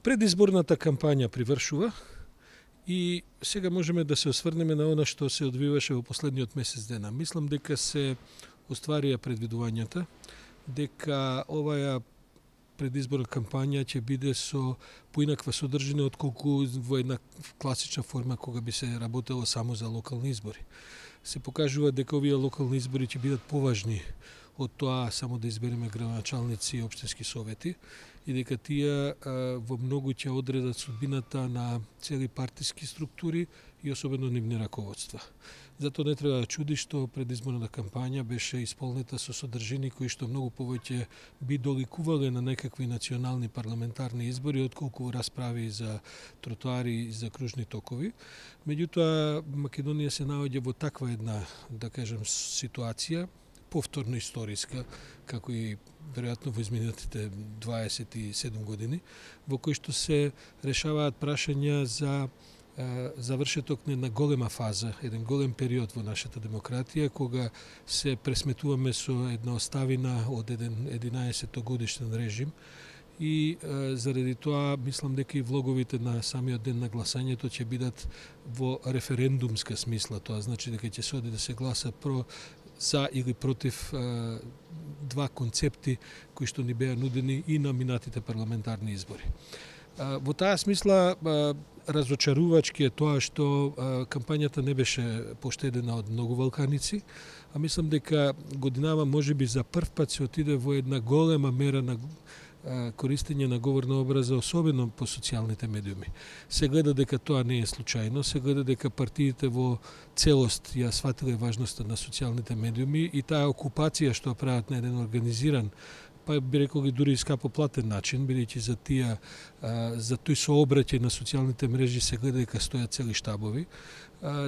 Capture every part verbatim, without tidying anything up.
Предизборната кампања привршува и сега можеме да се осврнеме на она што се одвиваше во последниот месец дена. Мислам дека се остварија предвидувањата, дека оваа предизборна кампања ќе биде со поинаква содржина отколку во една класична форма кога би се работело само за локални избори. Се покажува дека овие локални избори ќе бидат поважни од тоа само да избереме градоначалници и општински совети и дека тие во многу ќе одредат судбината на цели партиски структури и особено нивни раководства. Затоа не треба да чуди што предизборната кампања беше исполнета со содржини кои што многу повеќе би доликувале на некакви национални парламентарни избори отколку расправи за тротоари и за кружни токови. Меѓутоа Македонија се наоѓа во таква една, да кажем, ситуација повторно историска, како и веројатно во изминатите дваесет и седум години, во кои што се решаваат прашања за завршеток на една голема фаза, еден голем период во нашата демократија, кога се пресметуваме со една оставина од еден единаесеттогодишен режим и е, заради тоа мислам дека и влоговите на самиот ден на гласањето ќе бидат во референдумска смисла, тоа значи дека ќе се оди да се гласа про за или против е, два концепти кои што ни беа нудени и на минатите парламентарни избори. Е, во таа смисла е, разочарувачки е тоа што а, кампањата не беше поштедена од многу валканици, а мислам дека годинава можеби за прв пат се отиде во една голема мера на а, користење на говорна образа, особено по социјалните медиуми. Се гледа дека тоа не е случајно, се гледа дека партиите во целост ја сватиле важноста на социјалните медиуми и таа окупација што прават на еден организиран, па би рекол и дури скапо платен начин, бидејќи за тие за тој сообраќај на социјалните мрежи се гледа дека стојат цели штабови,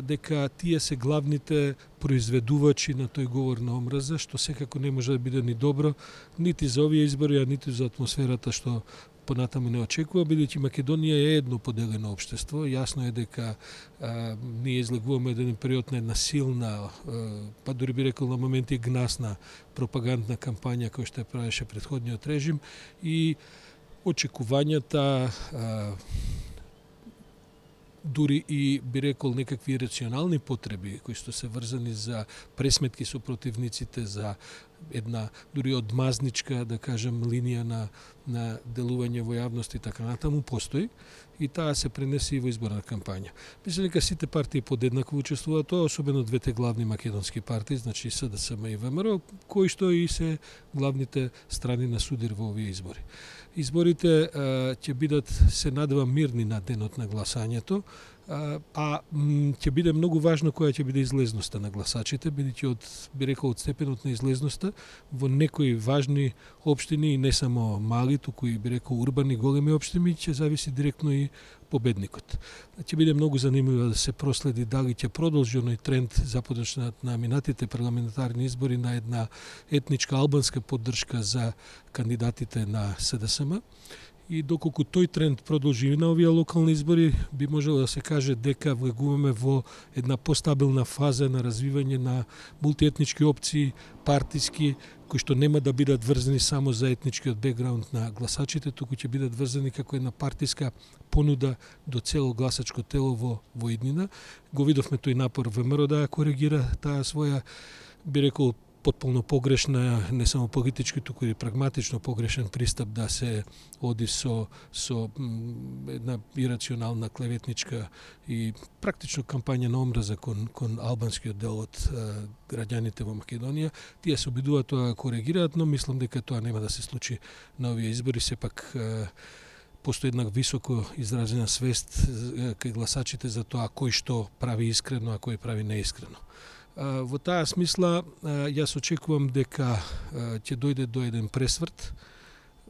дека тие се главните произведувачи на тој говор на омраза, што секако не може да биде ни добро, нити за овие избори, а нити за атмосферата што понатаму не очекува, бидејќи Македонија е едно поделено општество. Јасно е дека а, ние излегуваме еден период на една силна, а, па дури би рекол на моменти гнасна пропагандна кампања која што ја правеше претходниот режим и очекувањата, а, дури и би рекол некакви рационални потреби кои што се врзани за пресметки со противниците, за една дури одмазничка, да кажем, линија на, на делување во јавност и така натаму постои и таа се пренесе и во изборна кампања. Мислам дека сите партии подеднакво учествуваат тоа, особено двете главни македонски партии, значи СДСМ и ВМРО, кои што и се главните страни на судир во овие избори. Изборите ќе бидат, се надевам, мирни на денот на гласањето, а, а ќе биде многу важно која ќе биде излезноста на гласачите, бидејќи од, би рекол, од степенот на излезноста во некои важни општини и не само мали, туку и би рекол урбани големи општини, ќе зависи директно и победникот. Ќе биде многу занимливо да се проследи дали ќе продолжи оној тренд започнат на минатите парламентарни избори на една етничка албанска поддршка за кандидатите на СДСМ. И доколку тој тренд продолжи и на овие локални избори, би можело да се каже дека влегуваме во една постабилна фаза на развивање на мултиетнички опции, партиски, кои што нема да бидат врзани само за етничкиот бекграунд на гласачите, туку ќе бидат врзани како една партиска понуда до цело гласачко тело во, во иднина. Го видовме тој напор ВМРО да ја коригира таа своја, би рекол, потполно погрешна, не само политички, туку и прагматично погрешен пристап да се оди со, со една ирационална клеветничка и практично кампања на омраза кон, кон албанскиот дел од е, граѓаните во Македонија. Тие се обидуваат тоа да коригираат, но мислам дека тоа нема да се случи на овие избори. Сепак е, постои една високо изразена свест кај гласачите за тоа кој што прави искрено, а кој прави неискрено. Во таа смисла, јас очекувам дека ќе дојде до еден пресврт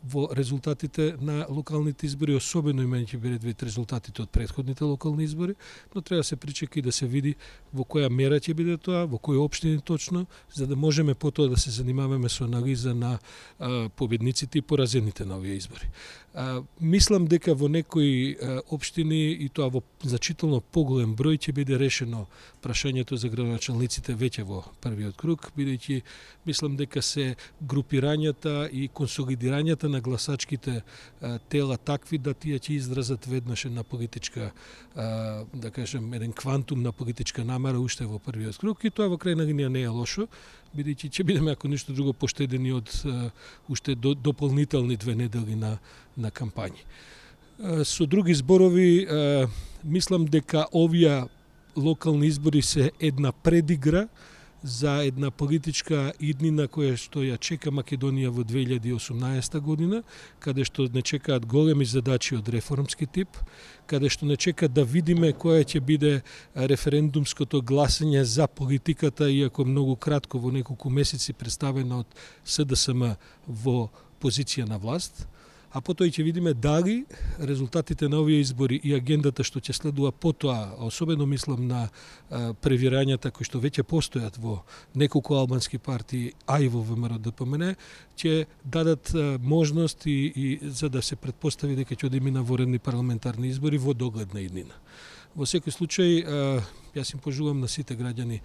во резултатите на локалните избори, особено имајќи предвид резултатите од претходните локални избори, но треба да се причека и да се види во која мера ќе биде тоа, во кои општини точно, за да можеме потоа да се занимаваме со анализа на а, победниците и поразените на овие избори. А, мислам дека во некои а, општини и тоа во значително поголем број ќе биде решено прашањето за градоначалниците веќе во првиот круг, бидејќи мислам дека се групирањата и консолидирањата на гласачките тела такви да тие ќе изразат веднаш една политичка, да кажем, еден квантум на политичка намера уште во првиот круг, и тоа во крајна линија не е лошо, бидејќи ќе бидеме, ако ништо друго, поштедени од уште до, дополнителни две недели на, на кампањи. Со други зборови, мислам дека овие локални избори се една предигра за една политичка иднина која што ја чека Македонија во две илјади и осумнаесета година, каде што не чекаат големи задачи од реформски тип, каде што не чека да видиме која ќе биде референдумското гласање за политиката, иако многу кратко во неколку месеци представена од С Д С М во позиција на власт, а потоа ќе видиме дали резултатите на овие избори и агендата што ќе следува потоа, особено мислам на превирањата кои што веќе постојат во неколку албански партии, а и во В М Р Д П М Н, ќе дадат можност и, и за да се претпостави дека ќе одиме на воредни парламентарни избори во догледна иднина. Во секој случај, јас им пожелувам на сите граѓани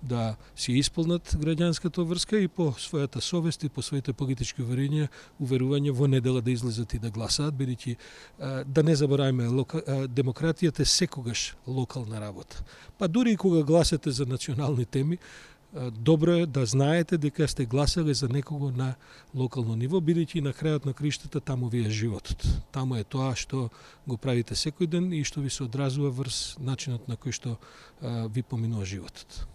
да си исполнат граѓанската врска и по својата совест и по своите политички уверувања, уверувања во недела да излезат и да гласаат, бидејќи да не забораваме, демократијата е секогаш локална работа. Па дури и кога гласате за национални теми, добро е да знаете дека сте гласале за некого на локално ниво, бидејќи на крајот на криштата таму ви е животот. Таму е тоа што го правите секој ден и што ви се одразува врз начинот на кој што ви поминува животот.